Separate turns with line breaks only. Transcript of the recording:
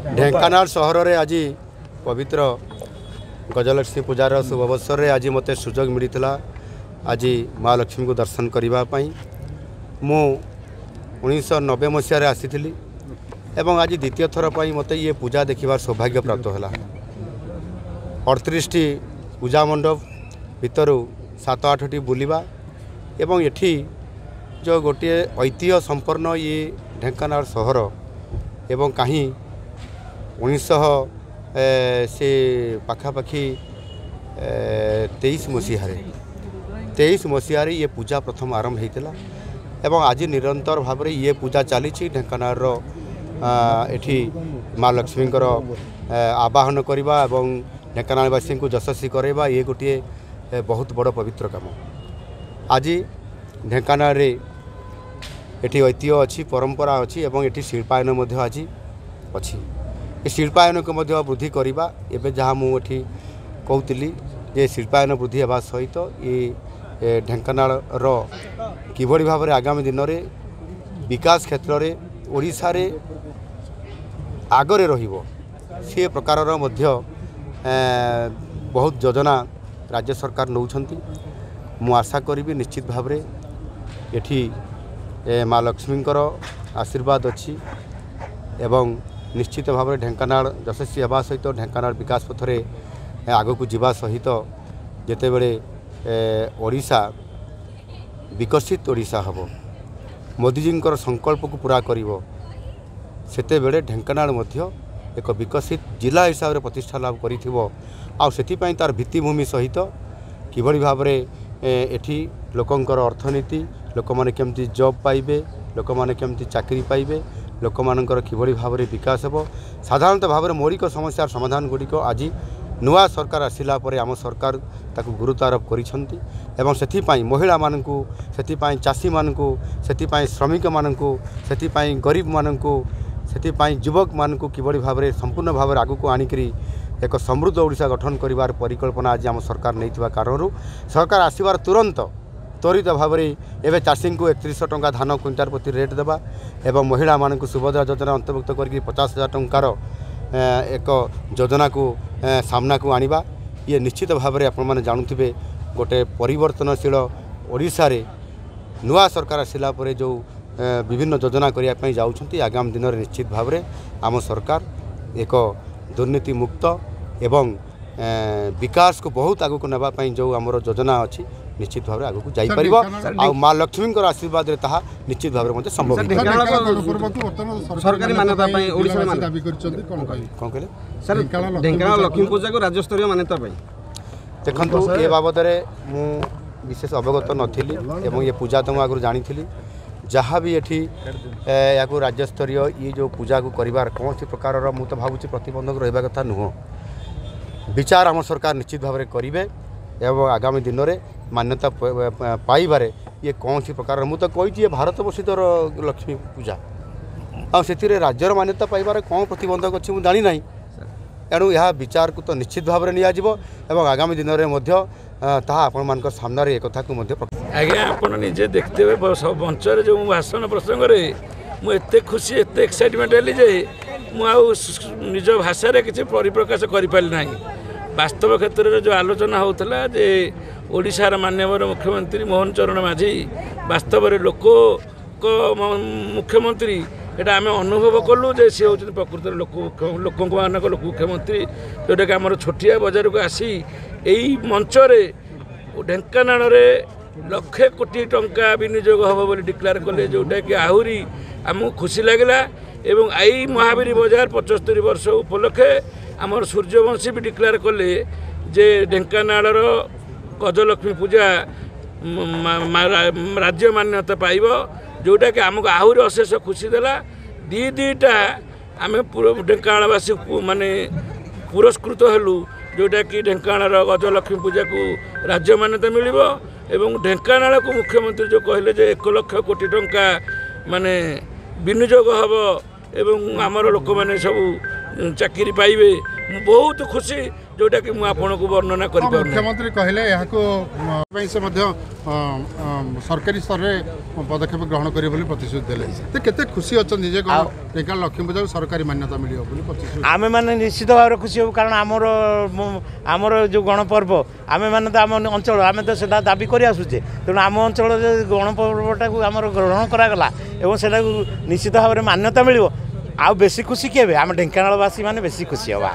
ଢେଙ୍କାନାଳ ସହରରେ ଆଜି ପବିତ୍ର ଗଜଲକ୍ଷ୍ମୀ ପୂଜାର ଶୁଭ ଅବସରରେ ଆଜି ମୋତେ ସୁଯୋଗ ମିଳିଥିଲା ଆଜି ମା ଲକ୍ଷ୍ମୀଙ୍କୁ ଦର୍ଶନ କରିବା ପାଇଁ। ମୁଁ 1990 ମସିହାରେ ଆସିଥିଲି ଏବଂ ଆଜି ଦ୍ୱିତୀୟ ଥର ପାଇଁ ମୋତେ ଇଏ ପୂଜା ଦେଖିବାର ସୌଭାଗ୍ୟ ପ୍ରାପ୍ତ ହେଲା। 38ଟି ପୂଜା ମଣ୍ଡପ ଭିତରୁ 7 8ଟି ବୁଲିବା ଏବଂ ଏଠି ଯେଉଁ ଗୋଟିଏ ଐତିହ୍ୟ ସମ୍ପନ୍ନ ଇଏ ଢେଙ୍କାନାଳ ସହର ଏବଂ କାହିଁ 1900 ସେ ପାଖାପାଖି 23 ମସିହାରେ 23 ମସିହାରେ ଇଏ ପୂଜା ପ୍ରଥମ ଆରମ୍ଭ ହେଇଥିଲା ଏବଂ ଆଜି ନିରନ୍ତର ଭାବରେ ଇଏ ପୂଜା ଚାଲିଛି। ଢେଙ୍କାନାଳର ଏଠି ମା ଲକ୍ଷ୍ମୀଙ୍କର ଆବାହନ କରିବା ଏବଂ ଢେଙ୍କାନାଳବାସୀଙ୍କୁ ଯଶସ୍ୱୀ କରାଇବା ଇଏ ଗୋଟିଏ ବହୁତ ବଡ଼ ପବିତ୍ର କାମ। ଆଜି ଢେଙ୍କାନାଳରେ ଏଠି ଐତିହ୍ୟ ଅଛି, ପରମ୍ପରା ଅଛି ଏବଂ ଏଠି ଶିଳ୍ପାୟନ ମଧ୍ୟ ଆଜି ଅଛି। ଏ ଶିଳ୍ପାୟନକୁ ମଧ୍ୟ ବୃଦ୍ଧି କରିବା, ଏବେ ଯାହା ମୁଁ ଏଠି କହୁଥିଲି ଯେ ଶିଳ୍ପାୟନ ବୃଦ୍ଧି ହେବା ସହିତ ଏ ଢେଙ୍କାନାଳର କିଭଳି ଭାବରେ ଆଗାମୀ ଦିନରେ ବିକାଶ କ୍ଷେତ୍ରରେ ଓଡ଼ିଶାରେ ଆଗରେ ରହିବ ସେ ପ୍ରକାରର ମଧ୍ୟ ବହୁତ ଯୋଜନା ରାଜ୍ୟ ସରକାର ନେଉଛନ୍ତି। ମୁଁ ଆଶା କରିବି ନିଶ୍ଚିତ ଭାବରେ ଏଠି ମା ଲକ୍ଷ୍ମୀଙ୍କର ଆଶୀର୍ବାଦ ଅଛି ଏବଂ ନିଶ୍ଚିତ ଭାବରେ ଢେଙ୍କାନାଳ ଯଶସ୍ୱୀ ହେବା ସହିତ ଢେଙ୍କାନାଳ ବିକାଶ ପଥରେ ଆଗକୁ ଯିବା ସହିତ ଯେତେବେଳେ ଓଡ଼ିଶା ବିକଶିତ ଓଡ଼ିଶା ହେବ, ମୋଦିଜୀଙ୍କର ସଂକଳ୍ପକୁ ପୂରା କରିବ, ସେତେବେଳେ ଢେଙ୍କାନାଳ ମଧ୍ୟ ଏକ ବିକଶିତ ଜିଲ୍ଲା ହିସାବରେ ପ୍ରତିଷ୍ଠା ଲାଭ କରିଥିବ। ଆଉ ସେଥିପାଇଁ ତା'ର ଭିତ୍ତିଭୂମି ସହିତ କିଭଳି ଭାବରେ ଏଠି ଲୋକଙ୍କର ଅର୍ଥନୀତି, ଲୋକମାନେ କେମିତି ଜବ୍ ପାଇବେ, ଲୋକମାନେ କେମିତି ଚାକିରି ପାଇବେ, ଲୋକମାନଙ୍କର କିଭଳି ଭାବରେ ବିକାଶ ହେବ, ସାଧାରଣତଃ ଭାବରେ ମୌଳିକ ସମସ୍ୟାର ସମାଧାନ ଗୁଡ଼ିକ ଆଜି ନୂଆ ସରକାର ଆସିଲା ପରେ ଆମ ସରକାର ତାକୁ ଗୁରୁତ୍ୱ ଆରୋପ କରିଛନ୍ତି ଏବଂ ସେଥିପାଇଁ ମହିଳାମାନଙ୍କୁ, ସେଥିପାଇଁ ଚାଷୀମାନଙ୍କୁ, ସେଥିପାଇଁ ଶ୍ରମିକମାନଙ୍କୁ, ସେଥିପାଇଁ ଗରିବମାନଙ୍କୁ, ସେଥିପାଇଁ ଯୁବକମାନଙ୍କୁ କିଭଳି ଭାବରେ ସମ୍ପୂର୍ଣ୍ଣ ଭାବରେ ଆଗକୁ ଆଣିକରି ଏକ ସମୃଦ୍ଧ ଓଡ଼ିଶା ଗଠନ କରିବାର ପରିକଳ୍ପନା ଆଜି ଆମ ସରକାର ନେଇଥିବା କାରଣରୁ ସରକାର ଆସିବାର ତୁରନ୍ତ ତ୍ୱରିତ ଭାବରେ ଏବେ ଚାଷୀଙ୍କୁ 3100 ଟଙ୍କା ଧାନ କୁଇଣ୍ଟାଲ ପ୍ରତି ରେଟ୍ ଦେବା ଏବଂ ମହିଳାମାନଙ୍କୁ ସୁଭଦ୍ରା ଯୋଜନା ଅନ୍ତର୍ଭୁକ୍ତ କରିକି 50,000 ଟଙ୍କାର ଏକ ଯୋଜନାକୁ ସାମ୍ନାକୁ ଆଣିବା, ଇଏ ନିଶ୍ଚିତ ଭାବରେ ଆପଣମାନେ ଜାଣୁଥିବେ ଗୋଟେ ପରିବର୍ତ୍ତନଶୀଳ ଓଡ଼ିଶାରେ ନୂଆ ସରକାର ଆସିଲା ପରେ ଯେଉଁ ବିଭିନ୍ନ ଯୋଜନା କରିବା ପାଇଁ ଯାଉଛନ୍ତି, ଆଗାମୀ ଦିନରେ ନିଶ୍ଚିତ ଭାବରେ ଆମ ସରକାର ଏକ ଦୁର୍ନୀତିମୁକ୍ତ ଏବଂ ବିକାଶକୁ ବହୁତ ଆଗକୁ ନେବା ପାଇଁ ଯେଉଁ ଆମର ଯୋଜନା ଅଛି ନିଶ୍ଚିତ ଭାବରେ ଆଗକୁ ଯାଇପାରିବ। ଆଉ ମା ଲକ୍ଷ୍ମୀଙ୍କର ଆଶୀର୍ବାଦରେ ତାହା ନିଶ୍ଚିତ ଭାବରେ ମଧ୍ୟ ସମ୍ଭବ।
ସରକାରୀ ମାନ୍ୟତା ପାଇଁ ଓଡ଼ିଶାରେ
ଦାବି କରିଛନ୍ତି, କ'ଣ କହିବେ?
କ'ଣ କହିଲେ
ସାର୍? ଢେଙ୍କାନାଳ ଲକ୍ଷ୍ମୀ ପୂଜାକୁ ରାଜ୍ୟସ୍ତରୀୟ ମାନ୍ୟତା ପାଇଁ
ଦେଖନ୍ତୁ, ଏ ବାବଦରେ ମୁଁ ବିଶେଷ ଅବଗତ ନଥିଲି ଏବଂ ଏ ପୂଜା ତ ମୁଁ ଆଗରୁ ଜାଣିଥିଲି। ଯାହା ବି ଏଠି ଏହାକୁ ରାଜ୍ୟସ୍ତରୀୟ ଇଏ ଯେଉଁ ପୂଜାକୁ କରିବାର କୌଣସି ପ୍ରକାରର ମୁଁ ତ ଭାବୁଛି ପ୍ରତିବନ୍ଧକ ରହିବା କଥା ନୁହଁ। ବିଚାର ଆମ ସରକାର ନିଶ୍ଚିତ ଭାବରେ କରିବେ ଏବଂ ଆଗାମୀ ଦିନରେ ମାନ୍ୟତା ପାଇବାରେ ଇଏ କୌଣସି ପ୍ରକାରର, ମୁଁ ତ କହିଛି ଇଏ ଭାରତ ବର୍ଷିତର ଲକ୍ଷ୍ମୀ ପୂଜା, ଆଉ ସେଥିରେ ରାଜ୍ୟର ମାନ୍ୟତା ପାଇବାରେ କ'ଣ ପ୍ରତିବନ୍ଧକ ଅଛି ମୁଁ ଜାଣିନାହିଁ। ଏଣୁ ଏହା ବିଚାରକୁ ତ ନିଶ୍ଚିତ ଭାବରେ ନିଆଯିବ ଏବଂ ଆଗାମୀ ଦିନରେ ମଧ୍ୟ ତାହା ଆପଣମାନଙ୍କ ସାମ୍ନାରେ ଏକଥାକୁ ମଧ୍ୟ।
ଆଜ୍ଞା, ଆପଣ ନିଜେ ଦେଖିଥିବେ ମଞ୍ଚରେ ଯେଉଁ ଭାଷଣ ପ୍ରସଙ୍ଗରେ ମୁଁ ଏତେ ଖୁସି, ଏତେ ଏକ୍ସାଇଟମେଣ୍ଟ ହେଲି ଯେ ମୁଁ ଆଉ ନିଜ ଭାଷାରେ କିଛି ପରିପ୍ରକାଶ କରିପାରିଲି ନାହିଁ। ବାସ୍ତବ କ୍ଷେତ୍ରରେ ଯେଉଁ ଆଲୋଚନା ହେଉଥିଲା ଯେ ଓଡ଼ିଶାର ମାନ୍ୟବର ମୁଖ୍ୟମନ୍ତ୍ରୀ ମୋହନ ଚରଣ ମାଝୀ ବାସ୍ତବରେ ଲୋକଙ୍କ ମୁଖ୍ୟମନ୍ତ୍ରୀ, ଏଇଟା ଆମେ ଅନୁଭବ କଲୁ ଯେ ସେ ହେଉଛନ୍ତି ପ୍ରକୃତରେ ଲୋକ ଲୋକଙ୍କ ମାନଙ୍କ ଲୋକ ମୁଖ୍ୟମନ୍ତ୍ରୀ, ଯେଉଁଟାକି ଆମର ଛୋଟିଆ ବଜାରକୁ ଆସି ଏଇ ମଞ୍ଚରେ ଢେଙ୍କାନାଳରେ ଲକ୍ଷେ କୋଟି ଟଙ୍କା ବିନିଯୋଗ ହେବ ବୋଲି ଡିକ୍ଲେୟାର କଲେ, ଯେଉଁଟାକି ଆହୁରି ଆମକୁ ଖୁସି ଲାଗିଲା। ଏବଂ ଏଇ ମହାବୀର ବଜାର 75 ବର୍ଷ ଉପଲକ୍ଷେ ଆମର ସୂର୍ଯ୍ୟବଂଶୀ ବି ଡିକ୍ଲେୟାର କଲେ ଯେ ଢେଙ୍କାନାଳର ଗଜଲକ୍ଷ୍ମୀ ପୂଜା ରାଜ୍ୟ ମାନ୍ୟତା ପାଇବ, ଯେଉଁଟାକି ଆମକୁ ଆହୁରି ଅଶେଷ ଖୁସି ଦେଲା। ଦୁଇଟା ଆମେ ଢେଙ୍କାନାଳବାସୀ ମାନେ ପୁରସ୍କୃତ ହେଲୁ, ଯେଉଁଟାକି ଢେଙ୍କାନାଳର ଗଜଲକ୍ଷ୍ମୀ ପୂଜାକୁ ରାଜ୍ୟ ମାନ୍ୟତା ମିଳିବ ଏବଂ ଢେଙ୍କାନାଳକୁ ମୁଖ୍ୟମନ୍ତ୍ରୀ ଯେଉଁ କହିଲେ ଯେ 1 ଲକ୍ଷ କୋଟି ଟଙ୍କା ମାନେ ବିନିଯୋଗ ହେବ ଏବଂ ଆମର ଲୋକମାନେ ସବୁ ଚାକିରି ପାଇବେ, ମୁଁ ବହୁତ ଖୁସି। ଯେଉଁଟାକି ମୁଁ ଆପଣଙ୍କୁ ବର୍ଣ୍ଣନା କରିପାରୁନି।
ମୁଖ୍ୟମନ୍ତ୍ରୀ କହିଲେ ଏହାକୁ ପାଇଁ ସେ ମଧ୍ୟ ସରକାରୀ ସ୍ତରରେ ପଦକ୍ଷେପ ଗ୍ରହଣ କରିବେ ବୋଲି ପ୍ରତିଶ୍ରୁତି ଦେଲେ। ତ କେତେ ଖୁସି ଅଛନ୍ତି ଯେ ଢେଙ୍କାନାଳ ଲକ୍ଷ୍ମୀ ପୂଜାକୁ ସରକାରୀ ମାନ୍ୟତା ମିଳିବ ବୋଲି ପ୍ରତିଶ୍ରୁତି?
ଆମେମାନେ ନିଶ୍ଚିତ ଭାବରେ ଖୁସି ହେବୁ, କାରଣ ଆମର ଯେଉଁ ଗଣପର୍ବ, ଆମେମାନେ ତ ଆମ ଅଞ୍ଚଳ ଆମେ ତ ସେଟା ଦାବି କରି ଆସୁଛେ। ତେଣୁ ଆମ ଅଞ୍ଚଳରେ ଗଣପର୍ବଟାକୁ ଆମର ଗ୍ରହଣ କରାଗଲା ଏବଂ ସେଟାକୁ ନିଶ୍ଚିତ ଭାବରେ ମାନ୍ୟତା ମିଳିବ, ଆଉ ବେଶୀ ଖୁସି କିଏ ହେବେ? ଆମ ଢେଙ୍କାନାଳବାସୀ ମାନେ ବେଶୀ ଖୁସି ହେବା।